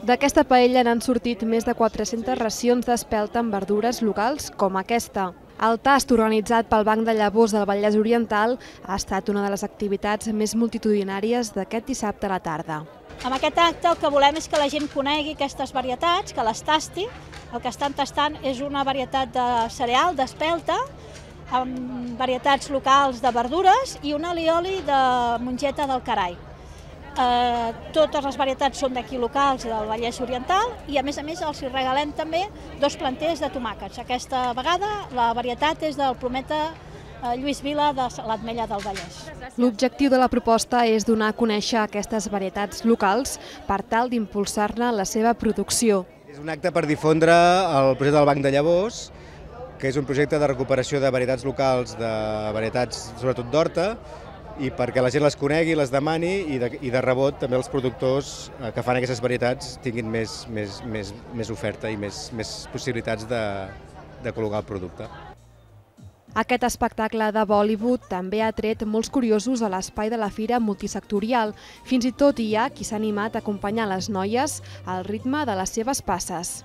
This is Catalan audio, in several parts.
D'aquesta paella n'han sortit més de 400 racions d'espelta amb verdures locals com aquesta. El tast organitzat pel Banc de Llavors del Vallès Oriental ha estat una de les activitats més multitudinàries d'aquest dissabte a la tarda. Amb aquest acte el que volem és que la gent conegui aquestes varietats, que les tasti. El que estan tastant és una varietat de cereal, d'espelta, amb varietats locals de verdures i un alioli de mongeta del Carai. Totes les varietats són d'aquí locals del Vallès Oriental i a més els regalem també 2 planters de tomàquets. Aquesta vegada la varietat és del Prometa Lluís Vila de l'Ametlla del Vallès. L'objectiu de la proposta és donar a conèixer aquestes varietats locals per tal d'impulsar-ne la seva producció. És un acte per difondre el projecte del Banc de Llavors, que és un projecte de recuperació de varietats locals, de varietats sobretot d'horta, i perquè la gent les conegui, les demani i de rebot també els productors que fan aquestes varietats tinguin més oferta i més possibilitats de col·locar el producte. Aquest espectacle de Bollywood també ha tret molts curiosos a l'espai de la fira multisectorial. Fins i tot hi ha qui s'ha animat a acompanyar les noies al ritme de les seves passes.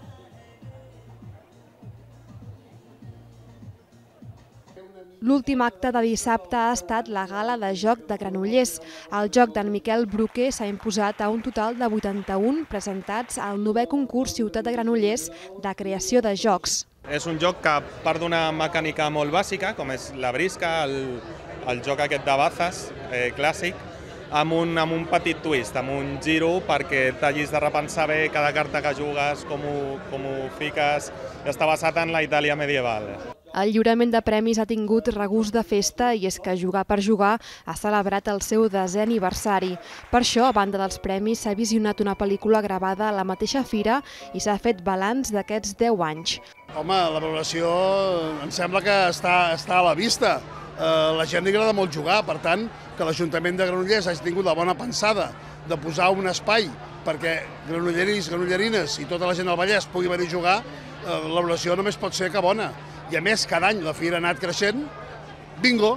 L'últim acte de dissabte ha estat la gala de joc de Granollers. El joc d'en Miquel Bruquer s'ha imposat a un total de 81 presentats al 9è concurs Ciutat de Granollers de creació de jocs. És un joc que part d'una mecànica molt bàsica, com és la brisca, el joc aquest de bazes clàssic, amb un petit twist, amb un giro perquè t'hagis de repensar bé cada carta que jugues, com ho fiques. Està basat en la Itàlia medieval. El lliurament de premis ha tingut regust de festa i és que Jugar per Jugar ha celebrat el seu 10è aniversari. Per això, a banda dels premis, s'ha visionat una pel·lícula gravada a la mateixa fira i s'ha fet balanç d'aquests 10 anys. Home, la valoració em sembla que està a la vista. La gent li agrada molt jugar, per tant, que l'Ajuntament de Granollers hagi tingut la bona pensada de posar un espai perquè granolleris, granollerines i tota la gent del Vallès pugui venir a jugar, la valoració només pot ser que bona. I a més, cada any la fira ha anat creixent, bingo!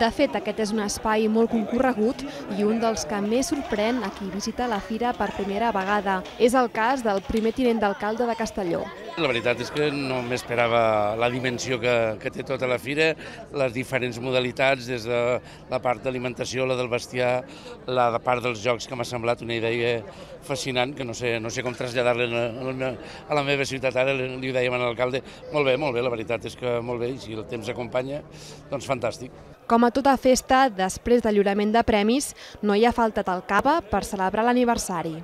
De fet, aquest és un espai molt concorregut i un dels que més sorprèn a qui visita la fira per primera vegada. És el cas del primer tinent d'alcalde de Castelló. La veritat és que no m'esperava la dimensió que té tota la fira, les diferents modalitats, des de la part d'alimentació, la del bestiar, la part dels jocs, que m'ha semblat una idea fascinant, que no sé com traslladar-la a la meva ciutat ara, li ho dèiem a l'alcalde. Molt bé, la veritat és que molt bé, i si el temps acompanya, doncs fantàstic. Com a tota festa, després del lliurament de premis, no hi ha faltat el cava per celebrar l'aniversari.